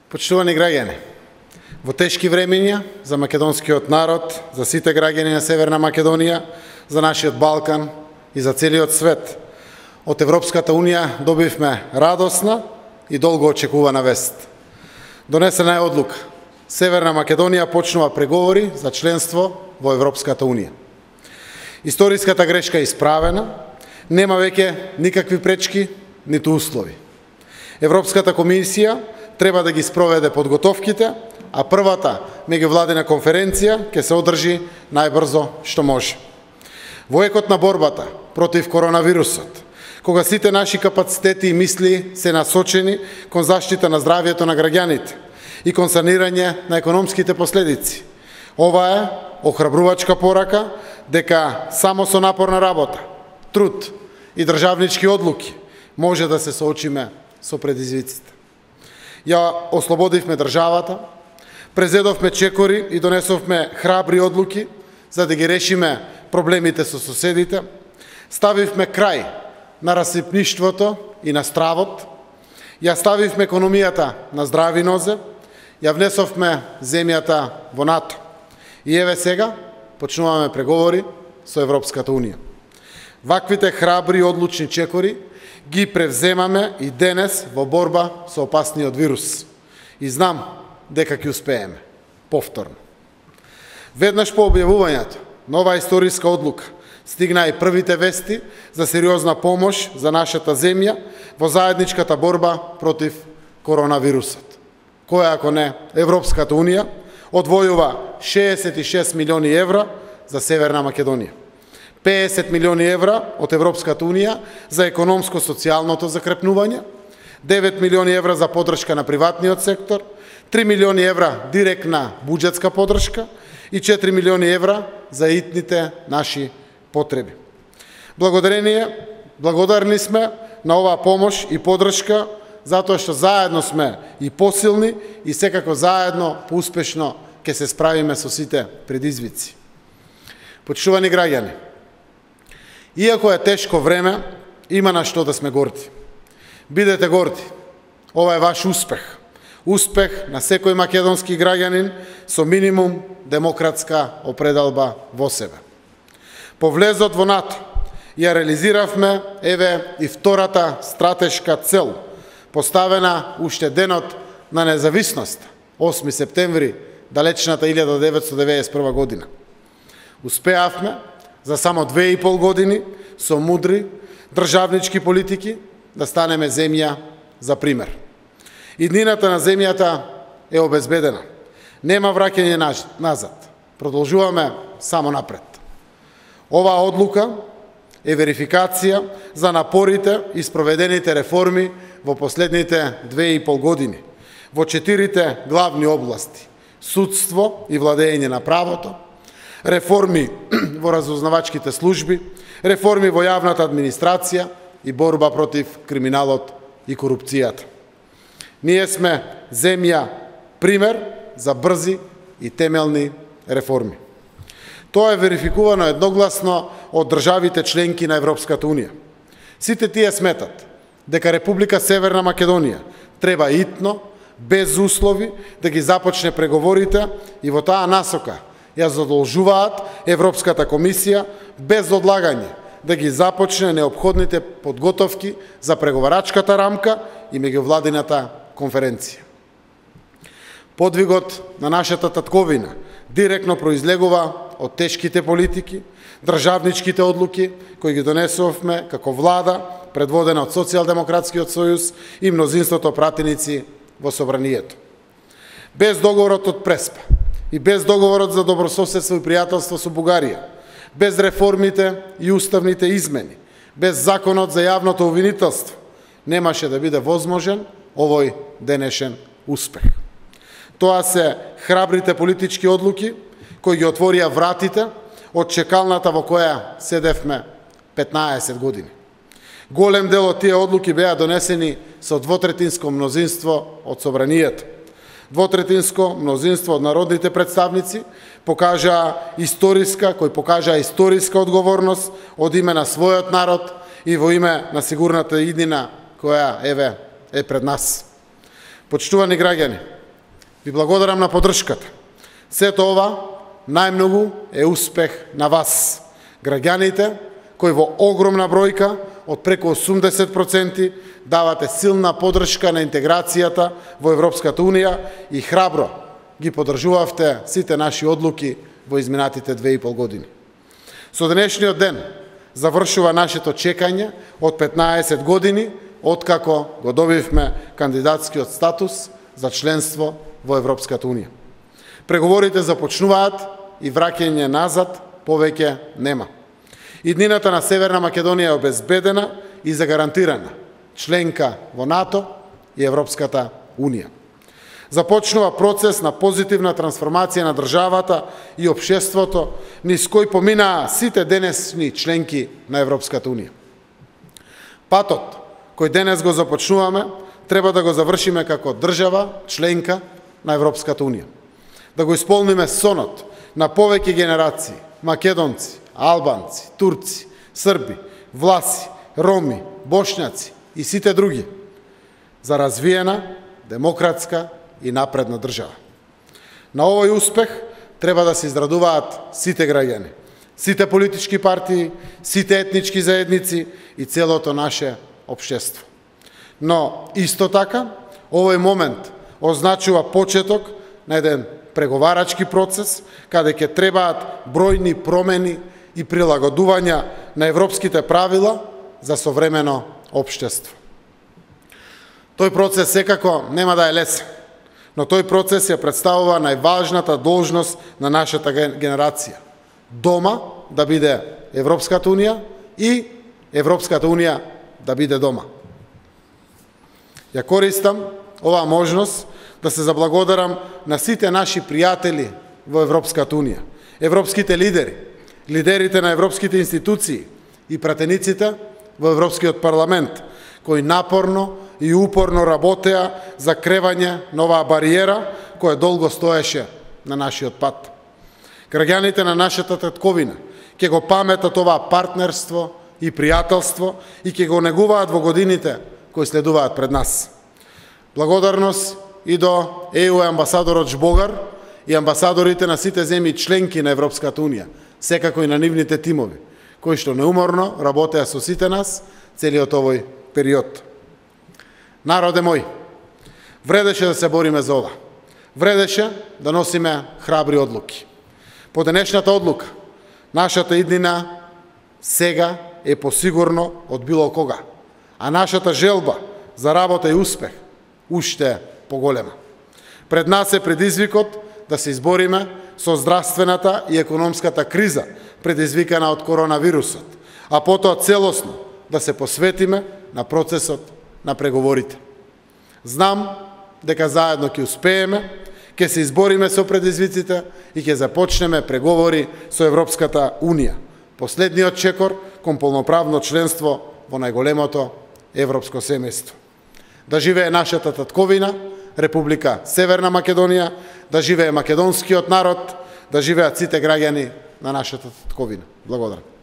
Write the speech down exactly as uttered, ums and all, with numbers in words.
Почитувани граѓани, во тешки времиња за македонскиот народ, за сите граѓани на Северна Македонија, за нашиот Балкан и за целиот свет, од Европската Унија добивме радосна и долго очекувана вест. Донесена е одлука. Северна Македонија почнува преговори за членство во Европската Унија. Историската грешка е исправена, нема веќе никакви пречки, ниту услови. Европската комисија треба да ги спроведе подготовките, а првата меѓувладина конференција ќе се одржи најбрзо што може. Во екот на борбата против коронавирусот, кога сите наши капацитети и мисли се насочени кон заштита на здравјето на граѓаните и кон санирање на економските последици, ова е охрабрувачка порака дека само со напорна работа, труд и државнички одлуки може да се соочиме со предизвиците. Ја ослободивме државата, презедовме чекори и донесовме храбри одлуки за да ги решиме проблемите со соседите, ставивме крај на расипништвото и на стравот, ја ставивме економијата на здрави нозе, ја внесовме земјата во НАТО. И еве сега почнуваме преговори со Европската Унија. Ваквите храбри и одлучни чекори ги превземаме и денес во борба со опасниот вирус. И знам дека ќе успееме. Повторно. Веднаш по објавувањето на оваа историска одлука стигна и првите вести за сериозна помош за нашата земја во заедничката борба против коронавирусот. Која ако не Европската Унија одвојува шеесет и шест милиони евра за Северна Македонија. педесет милиони евра од Европската Унија за економско-социјалното закрепнување, девет милиони евра за поддршка на приватниот сектор, три милиони евра директна буџетска поддршка и четири милиони евра за итните наши потреби. Благодарение, благодарни сме на оваа помош и поддршка, затоа што заедно сме и посилни и секако заедно поуспешно ќе се справиме со сите предизвици. Почитувани граѓани, иако е тешко време, има на што да сме горди. Бидете горди. Ова е ваш успех. Успех на секој македонски граѓанин со минимум демократска определба во себе. По влезот во НАТО ја реализиравме еве и втората стратешка цел, поставена уште денот на независност, осми септември, далечната илјада деветстотини деветдесет и прва година. Успеавме за само две и пол години со мудри државнички политики да станеме земја за пример. Иднината на земјата е обезбедена. Нема враќање назад. Продолжуваме само напред. Оваа одлука е верификација за напорите и спроведените реформи во последните две и пол години во четирите главни области: судство и владење на правото, реформи во разузнавачките служби, реформи во јавната администрација и борба против криминалот и корупцијата. Ние сме земја пример за брзи и темелни реформи. Тоа е верификувано едногласно од државите членки на Европската Унија. Сите тие сметат дека Република Северна Македонија треба итно, без услови, да ги започне преговорите и во таа насока ја задолжуваат Европската комисија без одлагање да ги започне неопходните подготовки за преговарачката рамка и меѓувладината конференција. Подвигот на нашата татковина директно произлегува од тешките политики, државничките одлуки кои ги донесовме како влада, предводена од Социјалдемократскиот сојуз и мнозинството пратеници во собранието. Без договорот од Преспа и без договорот за добрососедство и пријателство со Бугарија, без реформите и уставните измени, без законот за јавното обвинителство, немаше да биде возможен овој денешен успех. Тоа се храбрите политички одлуки кои ги отворија вратите од чекалната во која седевме петнаесет години. Голем дел од тие одлуки беа донесени со двотретинско мнозинство од собранието. Двотретинско мнозинство од народните представници покажаа историска, кој покажаа историска одговорност од име на својот народ и во име на сигурната иднина која еве е пред нас. Почитувани граѓани, Ви благодарам на поддршката. Сето ова најмногу е успех на вас, граѓаните, кои во огромна бројка, од преку осумдесет проценти, давате силна поддршка на интеграцијата во Европската Унија и храбро ги поддржувавте сите наши одлуки во изминатите две и пол години. Со денешниот ден завршува нашето чекање од петнаесет години, откако го добивме кандидатскиот статус за членство во Европската Унија. Преговорите започнуваат и враќање назад повеќе нема. Иднината на Северна Македонија е обезбедена и загарантирана членка во НАТО и Европската Унија. Започнува процес на позитивна трансформација на државата и општеството, низ кој поминаа сите денесни членки на Европската Унија. Патот кој денес го започнуваме, треба да го завршиме како држава членка на Европската Унија. Да го исполниме сонот на повеќе генерации македонци, албанци, турци, срби, власи, роми, бошњаци и сите други за развиена, демократска и напредна држава. На овој успех треба да се израдуваат сите граѓани, сите политички партии, сите етнички заедници и целото наше општество. Но исто така, овој момент означува почеток на еден преговарачки процес, каде ќе требаат бројни промени и прилагодувања на европските правила за современо општество. Тој процес секако нема да е лесен, но тој процес ја представува најважната должност на нашата генерација. Дома да биде Европската Унија и Европската Унија да биде дома. Ја користам оваа можност да се заблагодарам на сите наши пријатели во Европската Унија, европските лидери, лидерите на европските институции и пратениците во Европскиот парламент, кои напорно и упорно работеа за кревање на оваа бариера која долго стоеше на нашиот пат. Граѓаните на нашата татковина ќе го паметат оваа партнерство и пријателство и ќе го негуваат во годините кои следуваат пред нас. Благодарност и до Е Ю амбасадорот Жбогар и амбасадорите на сите земји членки на Европската Унија, секако и на нивните тимови, кои што неуморно работеа со сите нас целиот овој период. Народе мој, вредеше да се бориме за ова. Вредеше да носиме храбри одлуки. По денешната одлука, нашата иднина сега е посигурно од било кога, а нашата желба за работа и успех уште поголема. Пред нас е предизвикот да се избориме со здравствената и економската криза предизвикана од коронавирусот, а потоа целосно да се посветиме на процесот на преговорите. Знам дека заедно ќе успееме, ќе се избориме со предизвиците и ќе започнеме преговори со Европската Унија, последниот чекор кон полноправно членство во најголемото европско семејство. Да живее нашата татковина, Република Северна Македонија, да живее македонскиот народ, да живеат сите граѓани на нашата татковина. Благодарам.